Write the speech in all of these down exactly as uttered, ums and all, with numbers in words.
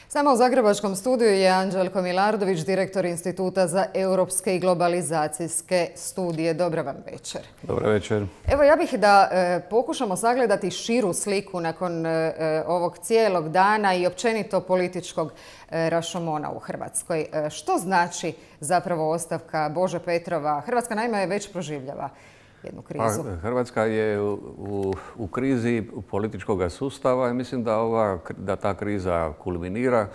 S nama u Zagrebačkom studiju je Anđelko Milardović, direktor Instituta za europske i globalizacijske studije. Dobar vam večer. Dobar večer. Evo, ja bih da e, pokušamo sagledati širu sliku nakon e, ovog cijelog dana i općenito političkog e, rašomona u Hrvatskoj. E, što znači zapravo ostavka Bože Petrova? Hrvatska naime već proživljava jednu krizu. A, Hrvatska je u, u, u krizi političkog sustava i mislim da, ova, da ta kriza kulminira.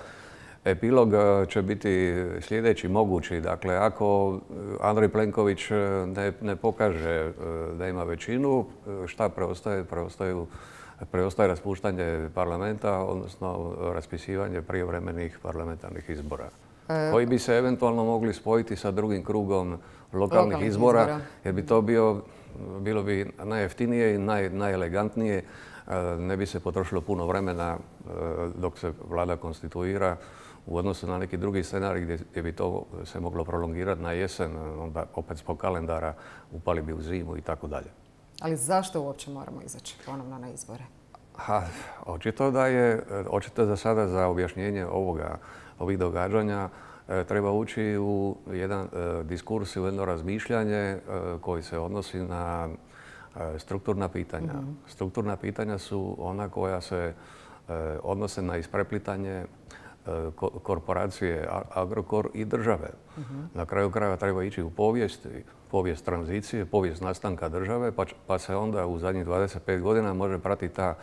Epilog će biti sljedeći mogući. Dakle, ako Andrej Plenković ne, ne pokaže da ima većinu, šta preostaje? Preostaju, preostaje raspuštanje parlamenta, odnosno raspisivanje prijevremenih parlamentarnih izbora. E... koji bi se eventualno mogli spojiti sa drugim krugom lokalnih, lokalnih izbora, izbora, jer bi to bio, bilo bi najjeftinije i naj, najelegantnije. Ne bi se potrošilo puno vremena dok se vlada konstituira u odnosu na neki drugi scenarij gdje, gdje bi to se moglo prolongirati na jesen, onda opet zbog kalendara upali bi u zimu i tako dalje. Ali zašto uopće moramo izaći ponovno na izbore? Ha, očito da je, očito za sada za objašnjenje ovoga, ovih događanja treba ući u jedan e, diskurs, u jedno razmišljanje e, koji se odnosi na e, strukturna pitanja. Mm-hmm. Strukturna pitanja su ona koja se e, odnose na ispreplitanje e, ko, korporacije Agrokor i države. Mm-hmm. Na kraju krajeva treba ići u povijest, povijest tranzicije, povijest nastanka države, pa, pa se onda u zadnjih dvadeset pet godina može pratiti ta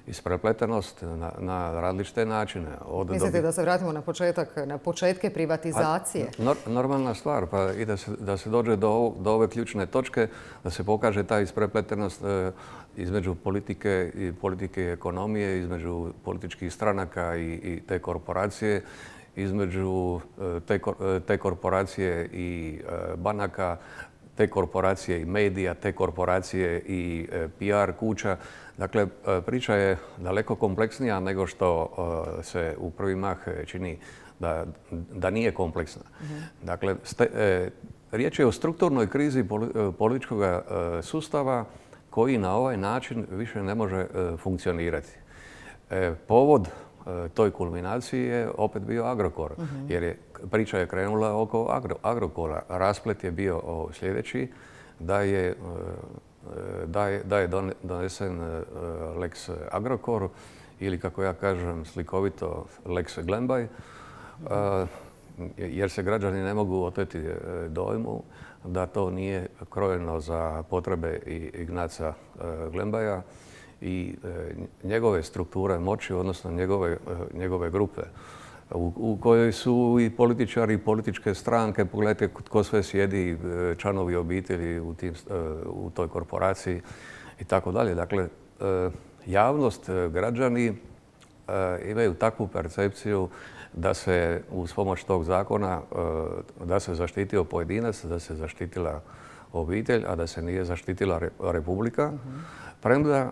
isprepletenost na, na različite načine. Od Mislite dobi... da se vratimo na početak, na početke privatizacije? A, nor, normalna stvar, pa i da se, da se dođe do, do ove ključne točke, da se pokaže ta isprepletenost e, između politike i politike i ekonomije, između političkih stranaka i, i te korporacije, između e, te, te korporacije i e, banaka, te korporacije i medija, te korporacije i e, P R kuća. Dakle, priča je daleko kompleksnija nego što se u prvi mah čini da, da nije kompleksna. Mm-hmm. Dakle, ste, e, riječ je o strukturnoj krizi političkog sustava koji na ovaj način više ne može e, funkcionirati. E, povod e, toj kulminaciji je opet bio Agrokor, mm-hmm. jer je priča je krenula oko Agro, Agrokora. Rasplet je bio o, sljedeći, da je e, Da je, da je donesen Lex Agrokor ili, kako ja kažem slikovito, Lex Glembaj, jer se građani ne mogu oteti dojmu da to nije krojeno za potrebe Ignaca Glembaja i njegove strukture moći, odnosno njegove, njegove grupe, u, u kojoj su i političari i političke stranke. Pogledajte tko sve sjedi, članovi obitelji u, tim, u toj korporaciji i tako dalje. Dakle, javnost, građani imaju takvu percepciju da se uz pomoć tog zakona da se zaštitio pojedinac, da se zaštitila obitelj, a da se nije zaštitila Republika. Mm-hmm. Premda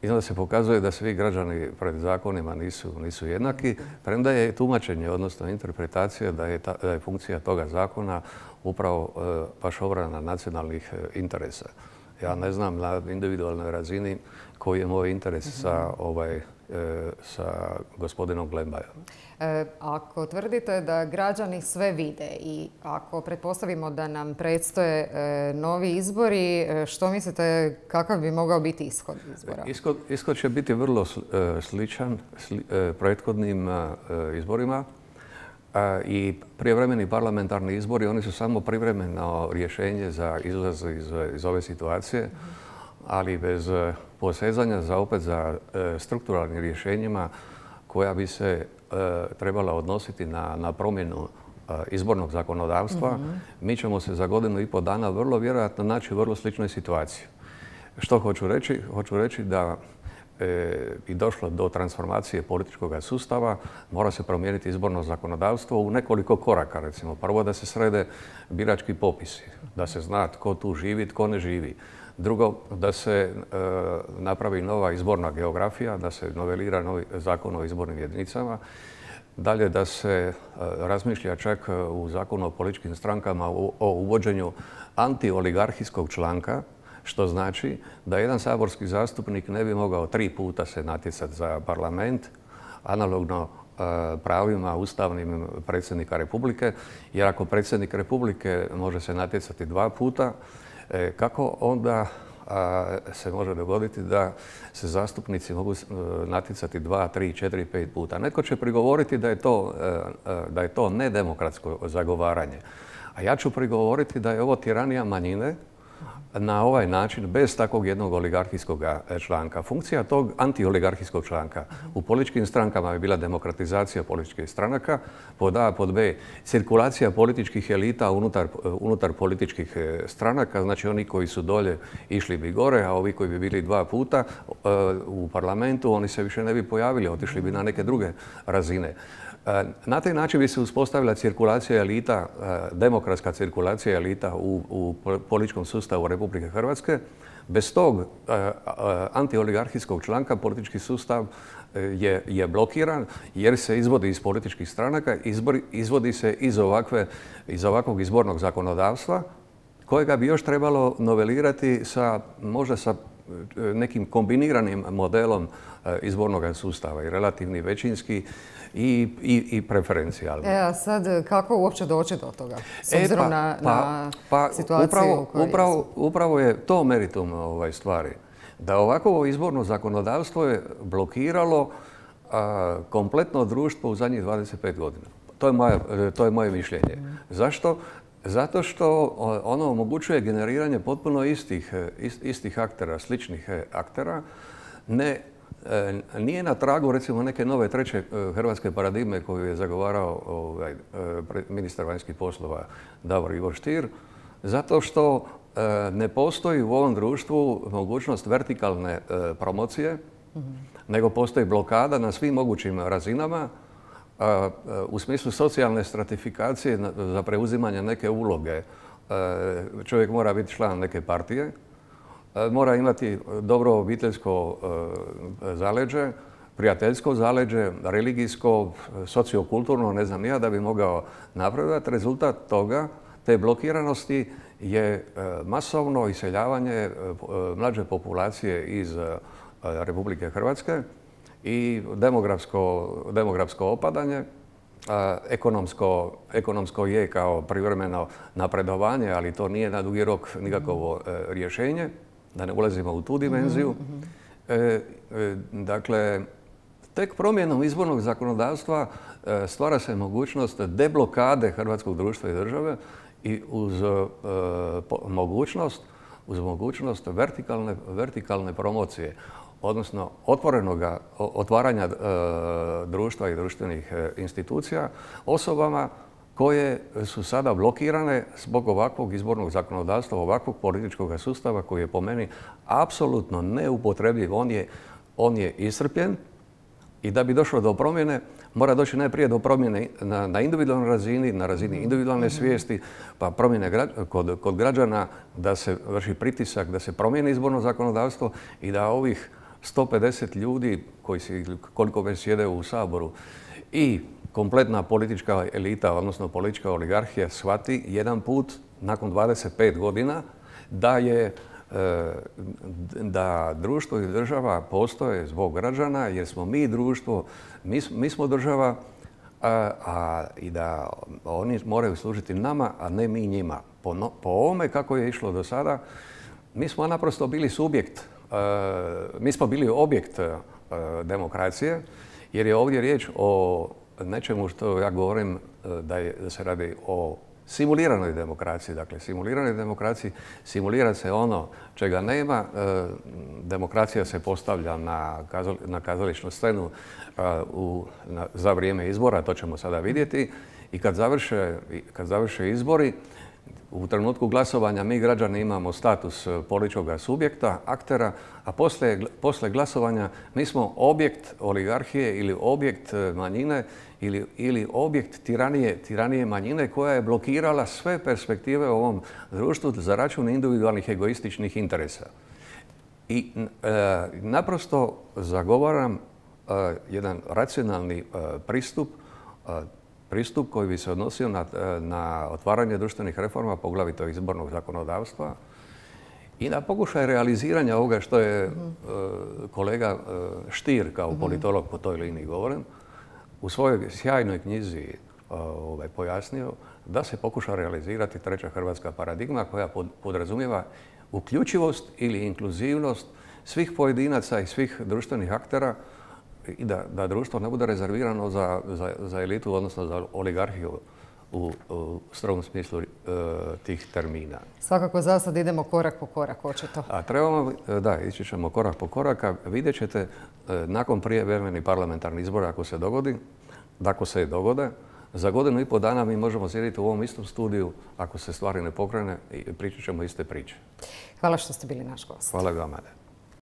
I onda se pokazuje da svi građani pred zakonima nisu, nisu jednaki, premda je tumačenje, odnosno interpretacija da je, ta, da je funkcija toga zakona upravo e, baš obrana nacionalnih e, interesa. Ja ne znam na individualnoj razini koji je moj interes mm-hmm. sa, ovaj, e, sa gospodinom Glembajom. E, ako tvrdite da građani sve vide i ako pretpostavimo da nam predstoje e, novi izbori, e, što mislite kakav bi mogao biti ishod izbora? Ishod, ishod će biti vrlo sličan sli, e, prethodnim e, izborima. E, I prijevremeni parlamentarni izbori, oni su samo privremeno rješenje za izlaz iz, iz ove situacije, mm-hmm. ali bez posezanja za opet za e, strukturalnim rješenjima koja bi se e, trebala odnositi na, na promjenu e, izbornog zakonodavstva, mm-hmm. mi ćemo se za godinu i pol dana vrlo vjerojatno naći u vrlo sličnoj situaciji. Što hoću reći? Hoću reći da e, bi došlo do transformacije političkog sustava, mora se promijeniti izborno zakonodavstvo u nekoliko koraka. Recimo, prvo da se srede birački popisi, da se zna tko tu živi, tko ne živi. Drugo, da se e, napravi nova izborna geografija, da se novelira novi zakon o izbornim jedinicama. Dalje, da se e, razmišlja čak u zakonu o političkim strankama o, o uvođenju antioligarhijskog članka, što znači da jedan saborski zastupnik ne bi mogao tri puta se natjecati za parlament, analogno pravima ustavnim predsjednika Republike, jer ako predsjednik Republike može se natjecati dva puta, kako onda se može dogoditi da se zastupnici mogu natjecati dva, tri, četiri, pet puta. Netko će prigovoriti da je to, da je to nedemokratsko zagovaranje. A ja ću prigovoriti da je ovo tiranija manjine na ovaj način, bez takvog jednog oligarhijskog članka. Funkcija tog antioligarhijskog članka u političkim strankama je bila demokratizacija političkih stranaka, pod A, pod B, cirkulacija političkih elita unutar, unutar političkih stranaka, znači oni koji su dolje išli bi gore, a ovi koji bi bili dva puta u parlamentu, oni se više ne bi pojavili, otišli bi na neke druge razine. Na taj način bi se uspostavila cirkulacija elita, demokratska cirkulacija elita u, u političkom sustavu Republike Hrvatske. Bez tog antioligarhijskog članka politički sustav je, je blokiran jer se izvodi iz političkih stranaka, izbor, izvodi se iz, ovakve, iz ovakvog izbornog zakonodavstva kojega bi još trebalo novelirati sa, možda sa nekim kombiniranim modelom izbornog sustava i relativni većinski i, i, i preferencijalni. E, a sad kako uopće doći do toga? S obzirom e, pa, na, pa, na pa, situaciju upravo, u kojoj upravo, upravo je to meritum ovaj, stvari. Da ovako izborno zakonodavstvo je blokiralo a, kompletno društvo u zadnjih dvadeset pet godina. To je moje, to je moje mišljenje. Mm. Zašto? Zato što ono omogućuje generiranje potpuno istih, istih aktera, sličnih aktera. Ne, nije na tragu recimo neke nove treće hrvatske paradigme koju je zagovarao ovaj, ministar vanjskih poslova Davor Ivo Stier, zato što ne postoji u ovom društvu mogućnost vertikalne promocije, mm-hmm. nego postoji blokada na svim mogućim razinama, u smislu socijalne stratifikacije za preuzimanje neke uloge. Čovjek mora biti član neke partije, mora imati dobro obiteljsko zaleđe, prijateljsko zaleđe, religijsko, sociokulturno, ne znam ja, da bi mogao napredovati. Rezultat toga, te blokiranosti, je masovno iseljavanje mlađe populacije iz Republike Hrvatske i demografsko, demografsko opadanje. Ekonomsko, ekonomsko je kao privremeno napredovanje, ali to nije na dugi rok nikakvo rješenje, da ne ulazimo u tu dimenziju. Mm-hmm. e, e, dakle, tek promjenom izbornog zakonodavstva e, stvara se mogućnost deblokade hrvatskog društva i države i uz e, po, mogućnost, uz mogućnost vertikalne, vertikalne promocije, odnosno otvorenoga otvaranja e, društva i društvenih e, institucija osobama koje su sada blokirane zbog ovakvog izbornog zakonodavstva, ovakvog političkog sustava koji je po meni apsolutno neupotrebljiv. On je, on je iscrpljen i da bi došlo do promjene mora doći najprije do promjene na, na individualnoj razini, na razini individualne svijesti, pa promjene gra, kod, kod građana, da se vrši pritisak, da se promijeni izborno zakonodavstvo i da ovih sto pedeset ljudi koji si, koliko već sjede u Saboru i kompletna politička elita, odnosno politička oligarhija, shvati jedan put nakon dvadeset pet godina da je da društvo i država postoje zbog građana, jer smo mi društvo, mi, mi smo država, a, a i da oni moraju služiti nama, a ne mi njima. Po, no, po ovome kako je išlo do sada, mi smo naprosto bili subjekt, a, mi smo bili objekt a, demokracije, jer je ovdje riječ o nečemu što ja govorim da, je, da se radi o simuliranoj demokraciji. Dakle, simuliranoj demokraciji simulira se ono čega nema. E, demokracija se postavlja na, kazali, na kazališnu scenu a, u, na, za vrijeme izbora, to ćemo sada vidjeti. I kad završe, kad završe izbori, u trenutku glasovanja mi građani imamo status političkog subjekta, aktera, a poslije, poslije glasovanja mi smo objekt oligarhije ili objekt manjine ili, ili objekt tiranije, tiranije manjine koja je blokirala sve perspektive u ovom društvu za račun individualnih egoističnih interesa. I e, naprosto zagovaram e, jedan racionalni e, pristup e, pristup koji bi se odnosio na, na otvaranje društvenih reforma, poglavito izbornog zakonodavstva, i na pokušaj realiziranja ovoga što je mm-hmm. uh, kolega uh, Stier kao politolog po toj liniji govorim, u svojoj sjajnoj knjizi ovaj, pojasnio da se pokuša realizirati treća hrvatska paradigma koja podrazumijeva uključivost ili inkluzivnost svih pojedinaca i svih društvenih aktera i da, da društvo ne bude rezervirano za, za, za elitu, odnosno za oligarhiju u, u strogom smislu e, tih termina. Svakako za sad idemo korak po korak, očito. A trebamo, da, ići ćemo korak po korak, a vidjet ćete e, nakon prijevremenih parlamentarnih izbora, ako se dogodi, da ako se dogode, za godinu i pol dana mi možemo sjediti u ovom istom studiju, ako se stvari ne pokrene, i pričat ćemo iste priče. Hvala što ste bili naš gost. Hvala vama.